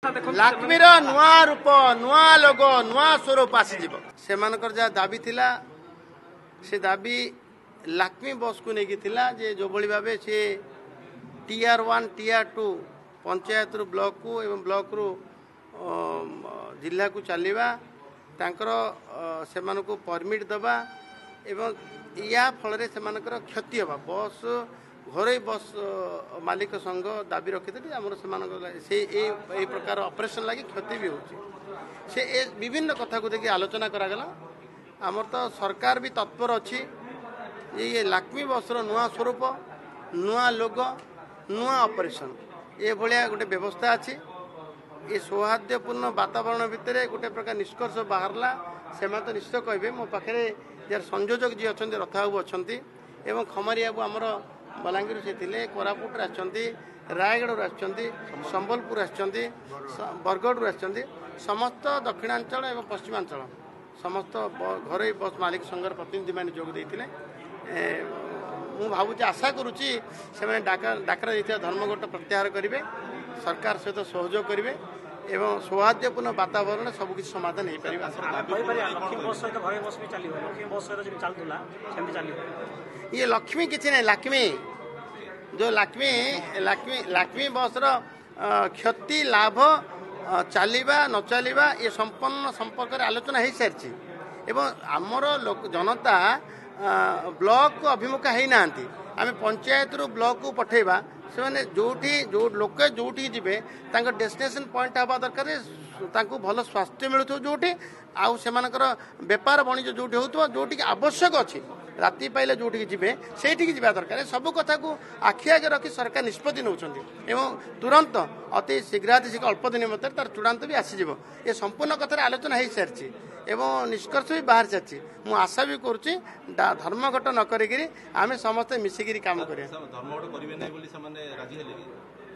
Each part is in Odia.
ଲାକ୍ମିର ନୂଆ ରୂପ, ନୂଆ ଲୋଗୋ, ନୂଆ ସ୍ୱରୂପ ଆସିଯିବ। ସେମାନଙ୍କର ଯାହା ଦାବି ଥିଲା, ସେ ଦାବି ଲାକ୍ମି ବସ୍କୁ ନେଇକି ଥିଲା ଯେ ଯେଉଁଭଳି ଭାବେ ସେ ଟିଆର୍ 1, ଟିଆର୍ 2 ପଞ୍ଚାୟତରୁ ବ୍ଲକକୁ ଏବଂ ବ୍ଲକରୁ ଜିଲ୍ଲାକୁ ଚାଲିବା, ତାଙ୍କର ସେମାନଙ୍କୁ ପରମିଟ୍ ଦେବା ଏବଂ ୟା ଫଳରେ ସେମାନଙ୍କର କ୍ଷତି ହେବା, ବସ୍ ଘରୋଇ ବସ୍ ମାଲିକ ସଂଘ ଦାବି ରଖିଥିଲେ ଆମର ସେମାନଙ୍କ ସେ ଏଇ ପ୍ରକାର ଅପରେସନ୍ ଲାଗି କ୍ଷତି ବି ହେଉଛି। ସେ ଏ ବିଭିନ୍ନ କଥାକୁ ଦେଖି ଆଲୋଚନା କରାଗଲା। ଆମର ତ ସରକାର ବି ତତ୍ପର ଅଛି ଯେ ଇଏ ଲାକ୍ମି ବସ୍ର ନୂଆ ସ୍ୱରୂପ, ନୂଆ ଲୋଗୋ, ନୂଆ ଅପରେସନ୍ ଏଭଳିଆ ଗୋଟେ ବ୍ୟବସ୍ଥା ଅଛି। ଏ ସୌହାର୍ଦ୍ଦ୍ୟପୂର୍ଣ୍ଣ ବାତାବରଣ ଭିତରେ ଗୋଟେ ପ୍ରକାର ନିଷ୍କର୍ଷ ବାହାରିଲା। ସେମାନେ ତ ନିଶ୍ଚୟ କହିବେ। ମୋ ପାଖରେ ଯାର ସଂଯୋଜକ ଯିଏ ଅଛନ୍ତି, ରଥବାବୁ ଅଛନ୍ତି ଏବଂ ଖମାରୀ ବାବୁ ଆମର ବଲାଙ୍ଗୀରରୁ ସେ ଥିଲେ, କୋରାପୁଟରୁ ଆସିଛନ୍ତି, ରାୟଗଡ଼ାରୁ ଆସିଛନ୍ତି, ସମ୍ବଲପୁର ଆସିଛନ୍ତି, ବରଗଡ଼ରୁ ଆସିଛନ୍ତି, ସମସ୍ତ ଦକ୍ଷିଣାଞ୍ଚଳ ଏବଂ ପଶ୍ଚିମାଞ୍ଚଳ ସମସ୍ତ ଘରୋଇ ବସ୍ ମାଲିକ ସଂଘର ପ୍ରତିନିଧିମାନେ ଯୋଗ ଦେଇଥିଲେ। ମୁଁ ଭାବୁଛି, ଆଶା କରୁଛି ସେମାନେ ଡାକରା ଦେଇଥିବା ଧର୍ମଘଟ ପ୍ରତ୍ୟାହାର କରିବେ, ସରକାର ସହିତ ସହଯୋଗ କରିବେ ଏବଂ ସୌହାର୍ଦ୍ଦ୍ୟପୂର୍ଣ୍ଣ ବାତାବରଣରେ ସବୁକିଛି ସମାଧାନ ହେଇପାରିବ। ଇଏ ଲକ୍ଷ୍ମୀ କିଛି ନାହିଁ, ଲାକ୍ଷ୍ମୀ ଯେଉଁ ଲାକ୍ଷ୍ମୀ ଲାକ୍ଷ୍ମୀ ଲାକ୍ଷ୍ମୀ ବସ୍ର କ୍ଷତି ଲାଭ, ଚାଲିବା ନ ଚାଲିବା ଏ ସମ୍ପନ୍ନ ସମ୍ପର୍କରେ ଆଲୋଚନା ହେଇସାରିଛି ଏବଂ ଆମର ଜନତା ବ୍ଲକକୁ ଅଭିମୁଖ ହେଇନାହାନ୍ତି। ଆମେ ପଞ୍ଚାୟତରୁ ବ୍ଲକକୁ ପଠେଇବା, ସେମାନେ ଯେଉଁଠି ଯେଉଁ ଲୋକେ ଯେଉଁଠିକି ଯିବେ ତାଙ୍କ ଡେଷ୍ଟିନେସନ୍ ପଏଣ୍ଟ ହେବା ଦରକାର ତାଙ୍କୁ ଭଲ ସ୍ୱାସ୍ଥ୍ୟ ମିଳୁଥିବ ଯେଉଁଠି, ଆଉ ସେମାନଙ୍କର ବେପାର ବାଣିଜ୍ୟ ଯେଉଁଠି ହେଉଥିବ, ଯେଉଁଠିକି ଆବଶ୍ୟକ ଅଛି, ରାତି ପାଇଲେ ଯେଉଁଠିକି ଯିବେ ସେଇଠିକି ଯିବା ଦରକାର। ସବୁ କଥାକୁ ଆଖି ଆଗରେ ରଖି ସରକାର ନିଷ୍ପତ୍ତି ନେଉଛନ୍ତି ଏବଂ ତୁରନ୍ତ ଅତି ଶୀଘ୍ରାତି ଶୀଘ୍ର ଅଳ୍ପ ଦିନ ମଧ୍ୟରେ ତାର ଚୂଡ଼ାନ୍ତ ବି ଆସିଯିବ। ଏ ସମ୍ପୂର୍ଣ୍ଣ କଥାରେ ଆଲୋଚନା ହେଇସାରିଛି ଏବଂ ନିଷ୍କର୍ଷ ବି ବାହାରି ସାରିଛି। ମୁଁ ଆଶା ବି କରୁଛି ଧର୍ମଘଟ ନ କରିକିରି ଆମେ ସମସ୍ତେ ମିଶିକିରି କାମ କରିବା।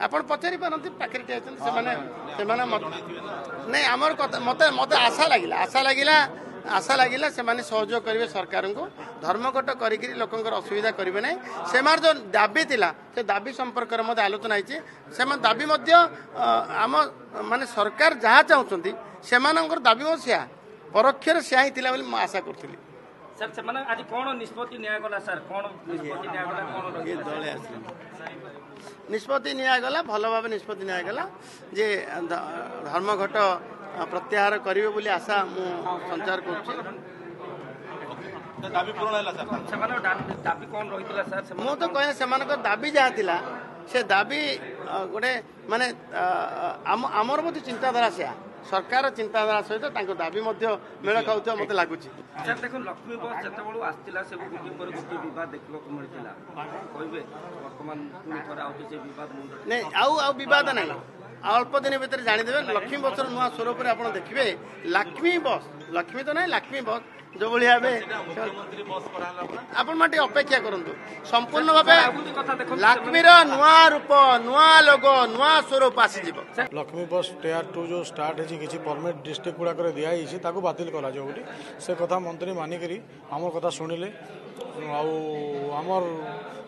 ଆପଣ ପଚାରି ପାରନ୍ତି, ପାଖରେ ଠିଆ ଅଛନ୍ତି ସେମାନେ। ସେମାନେ ନାଇଁ, ଆମର କଥା ମୋତେ ଆଶା ଲାଗିଲା, ଆଶା ଲାଗିଲା, ଆଶା ଲାଗିଲା ସେମାନେ ସହଯୋଗ କରିବେ ସରକାରଙ୍କୁ। ଧର୍ମଘଟ କରିକିରି ଲୋକଙ୍କର ଅସୁବିଧା କରିବେ ନାହିଁ। ସେମାନେ ଯେଉଁ ଦାବି ଥିଲା ସେ ଦାବି ସମ୍ପର୍କରେ ମଧ୍ୟ ଆଲୋଚନା ହେଇଛି। ସେମାନେ ଦାବି ମଧ୍ୟ ଆମ ମାନେ ସରକାର ଯାହା ଚାହୁଁଛନ୍ତି ସେମାନଙ୍କର ଦାବି ମଧ୍ୟ ସେୟା, ପରୋକ୍ଷରେ ସେୟା ହିଁ ଥିଲା ବୋଲି ମୁଁ ଆଶା କରୁଥିଲି। ସାର୍, ସେମାନେ ଆଜି କ'ଣ ନିଷ୍ପତ୍ତି ନିଆଗଲା? ସାର୍, କ'ଣ ନିଷ୍ପତ୍ତି ନିଆଗଲା? କ'ଣ ନିଷ୍ପତ୍ତି ନିଆଗଲା? ଭଲ ଭାବେ ନିଷ୍ପତ୍ତି ନିଆଗଲା ଯେ ଧର୍ମଘଟ ପ୍ରତ୍ୟାହାର କରିବେ ବୋଲି ଆଶା ମୁଁ ସଞ୍ଚାର କରୁଛି। ମୁଁ ତ କହିଲେ ସେମାନଙ୍କ ଦାବି ଯାହା ଥିଲା ସେ ଦାବି ଗୋଟେ ମାନେ ଆମର ମଧ୍ୟ ଚିନ୍ତାଧାରା ସେୟା, ସରକାର ଚିନ୍ତାଧାରା ସହିତ ତାଙ୍କ ଦାବି ମଧ୍ୟ ମେଳ ଖାଉଥିବା ମୋତେ ଲାଗୁଛି। ସାର୍ ଦେଖନ୍ତୁ, ଲକ୍ଷ୍ମୀ ବସ୍ ଯେତେବେଳୁ ଆସିଥିଲା ସବୁ ଗୋଟିଏ ପରେ ଗୋଟିଏ ବିବାଦ ଦେଖିବାକୁ ମିଳିଥିଲା। କହିବେ ବର୍ତ୍ତମାନ ପୁଣି ଥରେ ଆଉଛି ସେ ବିବାଦ? ନାଇଁ, ଆଉ ବିବାଦ ନାହିଁ। ଆଉ ଅଳ୍ପ ଦିନ ଭିତରେ ଜାଣିଦେବେ ଲକ୍ଷ୍ମୀ ବସ୍ର ନୂଆ ସ୍ୱରୂପରେ ଆପଣ ଦେଖିବେ। ଲକ୍ଷ୍ମୀ ବସ୍, ଲକ୍ଷ୍ମୀ ତ ନାହିଁ, ଲକ୍ଷ୍ମୀ ବସ୍ ଯେଉଁଭଳି ଭାବେ ଆପଣମାନେ ଟିକେ ଅପେକ୍ଷା କରନ୍ତୁ। ସମ୍ପୂର୍ଣ୍ଣ ଭାବେ ଲକ୍ଷ୍ମୀର ନୂଆ ରୂପ, ନୂଆ ଲୋଗୋ, ନୂଆ ସ୍ୱରୂପ ଆସିଯିବ। ଲକ୍ଷ୍ମୀ ବସ୍ ଟିଆର୍ 2 ଯେଉଁ ଷ୍ଟାର୍ଟ ହେଇଛି, କିଛି ପରମିଟ୍ ଡିଷ୍ଟ୍ରିକ୍ଟ ଗୁଡ଼ାକରେ ଦିଆହେଇଛି, ତାକୁ ବାତିଲ କରାଯିବ ବୋଲି ସେ କଥା ମନ୍ତ୍ରୀ ମାନିକରି ଆମର କଥା ଶୁଣିଲେ ଆଉ ଆମର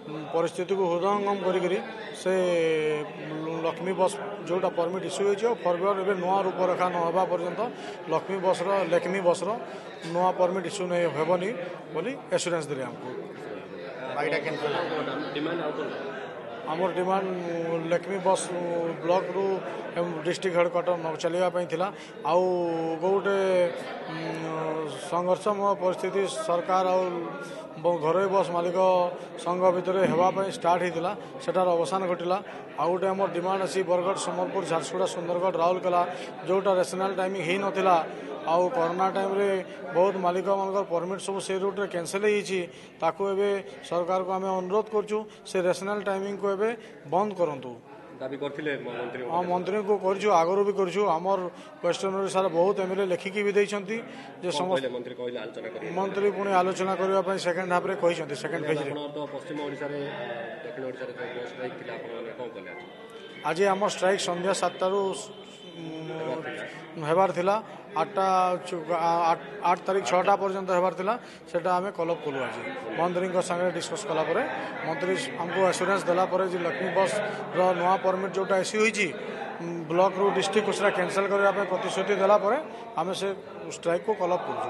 ପରିସ୍ଥିତିକୁ ହୃଦୟଙ୍ଗମ କରିକିରି ସେ ଲକ୍ଷ୍ମୀ ବସ୍ ଯେଉଁଟା ପରମିଟ୍ ଇସ୍ୟୁ ହେଇଛି ଆଉ ଫରୱାର୍ଡ଼ ଏବେ ନୂଆ ରୂପରେଖା ନ ହେବା ପର୍ଯ୍ୟନ୍ତ ଲକ୍ଷ୍ମୀ ବସ୍ର ଲେକ୍ମି ବସ୍ର ନୂଆ ପରମିଟ୍ ଇସ୍ୟୁ ହେବନି ବୋଲି ଏସୁରାନ୍ସ ଦେଲେ ଆମକୁ। ଆମର ଡିମାଣ୍ଡ ଲକ୍ଷ୍ମୀ ବସ୍ ବ୍ଲକରୁ ଡିଷ୍ଟ୍ରିକ୍ଟ ହେଡ଼କ୍ୱାର୍ଟର ନ ଚାଲିବା ପାଇଁ ଥିଲା। ଆଉ ଗୋଟେ ସଂଘର୍ଷମୟ ପରିସ୍ଥିତି ସରକାର ଆଉ ଘରୋଇ ବସ୍ ମାଲିକ ସଂଘ ଭିତରେ ହେବା ପାଇଁ ଷ୍ଟାର୍ଟ ହେଇଥିଲା, ସେଟାର ଅବସାନ ଘଟିଲା। ଆଉ ଗୋଟେ ଆମର ଡିମାଣ୍ଡ ଅଛି ବରଗଡ଼, ସମ୍ବଲପୁର, ଝାରସୁଗୁଡ଼ା, ସୁନ୍ଦରଗଡ଼, ରାଉରକେଲା ଯେଉଁଟା ରେସନାଲ୍ ଟାଇମିଂ ହେଇନଥିଲା ଆଉ କରୋନା ଟାଇମ୍ରେ ବହୁତ ମାଲିକମାନଙ୍କର ପରମିଟ୍ ସବୁ ସେ ରୁଟ୍ରେ କ୍ୟାନସେଲ୍ ହେଇଯାଇଛି, ତାକୁ ଏବେ ସରକାରକୁ ଆମେ ଅନୁରୋଧ କରୁଛୁ ସେ ରେସନାଲ୍ ଟାଇମିଂକୁ ଏବେ ବନ୍ଦ କରନ୍ତୁ। ଦାବି କରିଥିଲେ? ହଁ, ମନ୍ତ୍ରୀଙ୍କୁ କରିଛୁ, ଆଗରୁ ବି କରିଛୁ। ଆମର ୱେଷ୍ଟର୍ଣ୍ଣ ଓଡ଼ିଶାର ବହୁତ ଏମ୍ଏଲ୍ଏ ଲେଖିକି ବି ଦେଇଛନ୍ତି ଯେ ସମସ୍ତ ମନ୍ତ୍ରୀ ପୁଣି ଆଲୋଚନା କରିବା ପାଇଁ ସେକେଣ୍ଡ ହାଫ୍ରେ କହିଛନ୍ତି, ସେକେଣ୍ଡ ଫେଜ୍ରେ। ପଶ୍ଚିମ ଓଡ଼ିଶାରେ, ଦକ୍ଷିଣ ଓଡ଼ିଶାରେ ଷ୍ଟ୍ରାଇକ୍ ଥିଲା, ଆପଣମାନେ କ'ଣ କଲେ ଆଜି? ଆମ ଷ୍ଟ୍ରାଇକ୍ ସନ୍ଧ୍ୟା 7ଟାରୁ ହେବାର ଥିଲା, 8ଟା, 8 ତାରିଖ 6ଟା ପର୍ଯ୍ୟନ୍ତ ହେବାର ଥିଲା, ସେଟା ଆମେ କଲଅପ୍ କଲୁ ଆଜି ମନ୍ତ୍ରୀଙ୍କ ସାଙ୍ଗରେ ଡିସ୍କସ୍ କଲା ପରେ। ମନ୍ତ୍ରୀ ଆମକୁ ଆସୁରାନ୍ସ ଦେଲା ପରେ ଯେ ଲକ୍ଷ୍ମୀ ବସ୍ର ନୂଆ ପରମିଟ୍ ଯେଉଁଟା ଇସ୍ୟୁ ହେଇଛି, ବ୍ଲକରୁ ଡିଷ୍ଟ୍ରିକ୍ଟକୁ ସେଟା କ୍ୟାନସେଲ୍ କରିବା ପାଇଁ ପ୍ରତିଶ୍ରୁତି ଦେଲା ପରେ ଆମେ ସେ ଷ୍ଟ୍ରାଇକ୍କୁ କଲ୍ ଅଫ୍ କରୁଛୁ।